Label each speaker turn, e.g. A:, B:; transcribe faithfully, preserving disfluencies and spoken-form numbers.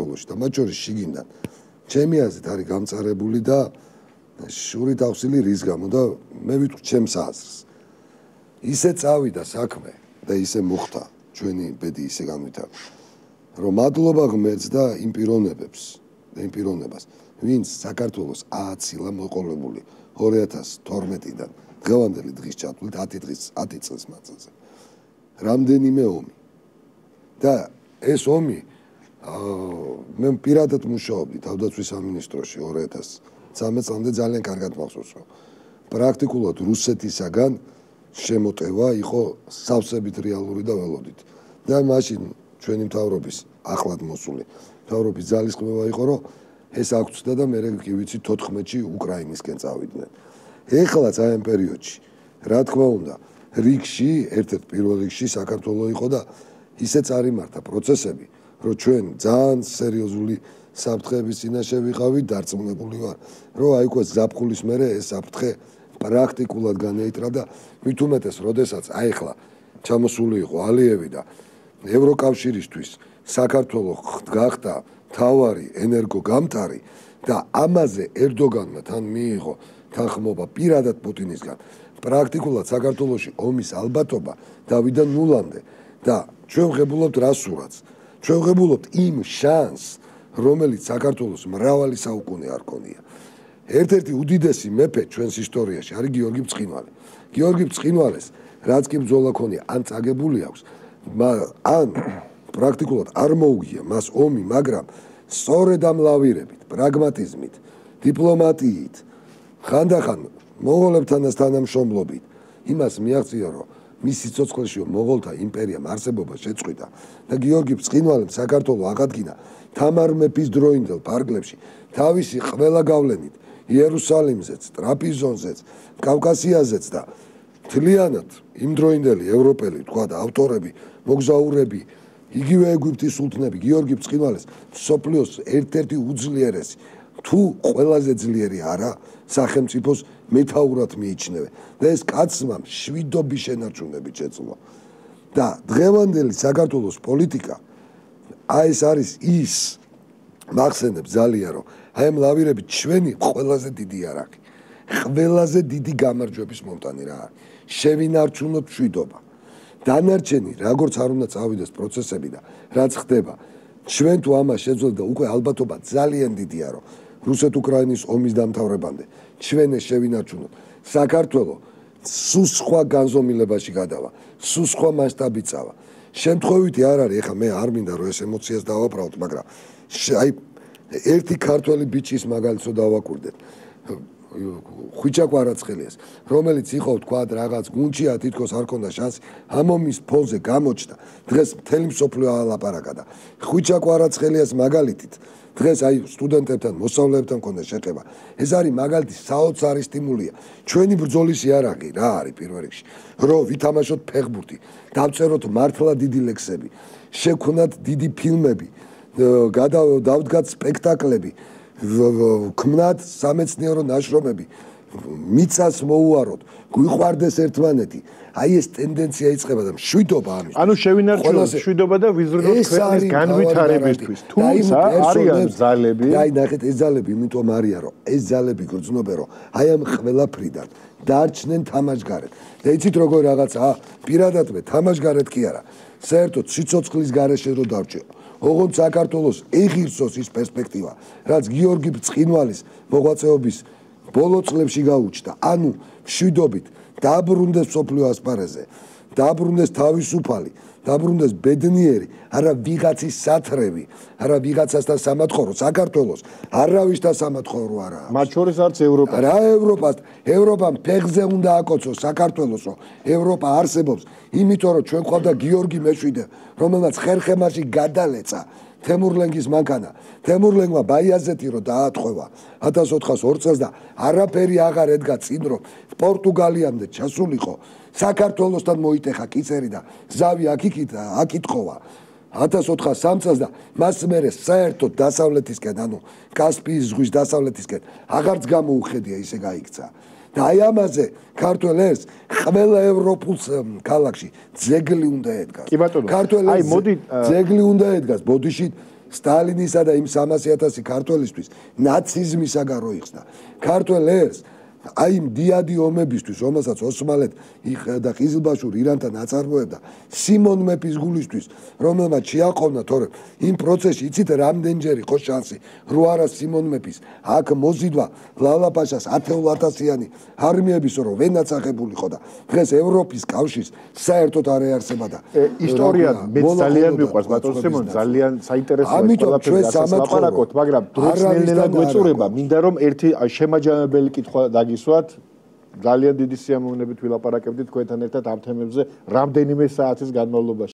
A: საქართველოში და მათ შორის შიგნიდან ჩემი აზრით არის გამწარებული და შურით ავსილი რის გამო და მე ვიტყვი ჩემს აზრს ისე წავიდა საქმე და ისე მოხდა ჩვენი ბედი ისე განვითარდა რომ მადლობა ღმერთს და იმ პიროვნებებს და იმ პიროვნებას ვინც საქართველოს ააცილა მოყოლებული ორი ათას თორმეტიდან დღევანდელი დღის ჩათვლით ათი დღის ათი წლის მანძილზე რამდენიმე ომი და ეს ომი მე პირადად მუშაობდი თავდაცვის სამინისტროში ორი ათას ცხრამეტ წლამდე ძალიან კარგად მახსოვს რომ პრაქტიკულად რუსეთისაგან შემოტევა იყო სავსებით რეალური და ველოდით და მაშინ ჩვენი მთავრობის ახლად მოსული მთავრობის ძალისხმევა იყო რომ ეს აღწევდა და მე კი ვიცი თოთხმეტში უკრაინისკენ წავიდნენ ეხლაც აი ამ პერიოდში რა თქმა უნდა რიგში ერთ-ერთ პირველ რიგში საქართველოს იყო და ისე წარიმართა პროცესები რომ ჩვენ ძალიან სერიოზული საფრთხეების წინაშე ვიყავით დარწმუნებული ვარ რომ აი უკვე ზაფხულის მერე ეს საფრთხე პრაქტიკულად განეიტრა და მით უმეტეს როდესაც აი ახლა ჩამოსული იყო ალიევი და ევროკავშირისთვის საქართველოს გახდა თავარი ენერგოგამტარი და ამაზე ერდოგანმა თან მიიღო თანხმობა პირადად პუტინისგან პრაქტიკულად საქართველოში ომის ალბათობა დავიდა ნულამდე და ჩვენ ვღებულობთ რა სურათს ჩვენ ვღებულობთ იმ შანსს რომელიც საქართველოს მრავალი საუკუნე არ ქონია ერთ-ერთი უდიდესი მეფე ჩვენს ისტორიაში არის გიორგი ბრწყინვალე გიორგი ბრწყინვალეს რაც კი ბრძოლა ქონია ან წაგებული აქვს ან პრაქტიკულად არ მოუგია მას ომი მაგრამ სწორედ ამ ლავირებით პრაგმატიზმით დიპლომატიით ხანდახან მონღოლებთანაც თანამშრომლობით იმას მიაღწია რომ მის სიცოცხლეში მონღოლთა იმპერიამ არსებობა შეწყვიტა და გიორგი ბრწყინვალემ საქართველოს აღადგინა თამარ მეფის დროინდელ პარკლებში თავისი ყველა გავლენით იერუსალიმზეც, ტრაპიზონზეც, კავკასიაზეც და მთლიანად იმ დროინდელი ევროპელი თქვა და ავტორები, მოგზაურები, იგივე ეგვიპტის სულთნები გიორგი ბრწყინვალეს მსოფლიოს ერთ-ერთი უძლიერესი თუ ყველაზე ძლიერი არა სახელმწიფოს მეთაურად მიიჩნევენ და ეს კაცმა შვიდობის შენარჩუნებით შეძლო და დღევანდელი საქართველოს პოლიტიკა აი ეს არის ის მახსენებს ძალიან რომ აი ამ ლავირებით ჩვენი ყველაზე დიდი არაკი ყველაზე დიდი გამარჯვების მომტანი რა არის შევინარჩუნოთ მშვიდობა დანარჩენი როგორც არ უნდა წავიდეს პროცესები და რაც ხდება ჩვენ თუ ამას შეძლოთ და უკვე ალბათობა ძალიან დიდია რომ რუსეთ-უკრაინის ომის დამთავრებამდე ჩვენ ეს შევინარჩუნოთ საქართველოს სულ სხვა განზომილებაში გადავა სულ სხვა მასშტაბით წავა შემთხვევითი არ არის ეხლა მე არ მინდა რომ ეს ემოციას დავაბრალოთ მაგრამ აი ერთი ქართველი ბიჭის მაგალითო დავაკვირდეთ ხვიჩა კვარაცხელიას რომელიც იყო თქვა რაღაც გუნჩია თითქოს არ ქონდა შანსი ამომის ფონზე გამოჩნდა დღეს მთელი მსოფლიო ალაპარაკა და ხვიჩა კვარაცხელიას მაგალითით დღეს აი სტუდენტებთან მოსწავლეებთან ქონდა შეხება ეს არის მაგალითი საოცარი სტიმულია ჩვენი ბრძოლის იარაღი რა არის პირველ რიგში რომ ვითამაშოთ ფეხბურთი დავწეროთ მართლა დიდი ლექსები შევქვნათ დიდი ფილმები დავდგათ სპექტაკლები ქმნათ სამეცნიერო ნაშრომები მიწას მოუაროთ გვიყვარდეს ერთმანეთი აი ეს ტენდენცია იწყება და მშვიდობა ამის
B: ანუ შევინარჩუნოთ მშვიდობა და ვიზრუნოთ ქვეყნის განვითარებისთვის თუმცა არიან ძალები
A: აი ნახეთ ეს ძალები იმიტომ არიან რომ ეს ძალები გრძნობენ რომ აი ამ ყველაფრიდან დარჩნენ თამაშგარეთ და იცით როგორ რაღაცა პირადად მე თამაშგარეთ კი არა საერთოდ სიცოცხლის გარეშე რო დარჩე ოღონდ საქართველოს ეღირსოს ის პერსპექტივა რაც გიორგი ბრწყინვალის მოღვაწეობის ბოლო წლებში გაუჩნდა ანუ მშვიდობით დაბრუნდეს მსოფლიო ასპარეზზე დაბრუნდეს თავისუფალი დაბრუნდეს ბედნიერი არა ვიღაცის სათრევი არა ვიღაცასთან სამათხოვრო საქართველოს არავისთან სამათხოვრო არა
B: მათ შორის არც ევროპა
A: რა ევროპას ევროპამ ფეხზე უნდა აკოცოს საქართველოსო ევროპა არსებობს იმიტომ რომ ჩვენ ყავდა გიორგი მეშვიდე რომელმაც ხერხემაში გადალეცა თემურლენგის მანქანა თემურლენგმა ბაიაზეთი რო დაატყვევა ათას ოთხას ორ წელს და არაფერი აღარ ედგა წინ რომ პორტუგალიამდე ჩასულიყო საქართველოსთან მოიტეხა კიცერი და ზავი აქ-იქით აკითხოვა ათას ოთხას სამ წელს და მას მერე საერთოდ დასავლეთისკენ ანუ კასპიის ზღვის დასავლეთისკენ აღარც გამოუხედია ისე გაიქცა და აი ამაზე ქართველ ერს ყველა ევროპულ ქალაქში ძეგლი უნდა ედგას
B: კი ბატონო
A: ქართველ ერს ძეგლი უნდა ედგას ბოდიში სტალინისა და იმ სამასი ათასი ქართველისთვის ნაციზმისაგან როიხსნა. ქართველ ერს აი იმ დიადი ომებისთვის, რომელსაც ოსმალეთ და ყიზილბაშური ირანთან აწარმოებდა, სიმონ მეფის გულისთვის, რომელმაც შეაყოვნა, თორემ იმ პროცესში იცით რამდენჯერ იყო შანსი, რო არა სიმონ მეფის აქ მოზიდვა ლალაპაშას ათეულათასიანი არმიების, რომ ვენაც აღებულიყო და დღეს ევროპის კავშირს საერთოდ არ ეარსება და
B: ისტორია მე ძალიან მიყვარს ბატონ სიმონ, ძალიან საინტერესოა ყველაფერი ასლაპარაკოთ, მაგრამ დროც ნელ-ნელა გვეწურება, მინდა რომ ერთი შემაჯამებელი კითხვა გისვათ ძალიან დიდი სიამოვნებით ვილაპარაკებდით თქვენთან ერთად ამ თემებზე რამდენიმე საათის განმავლობაში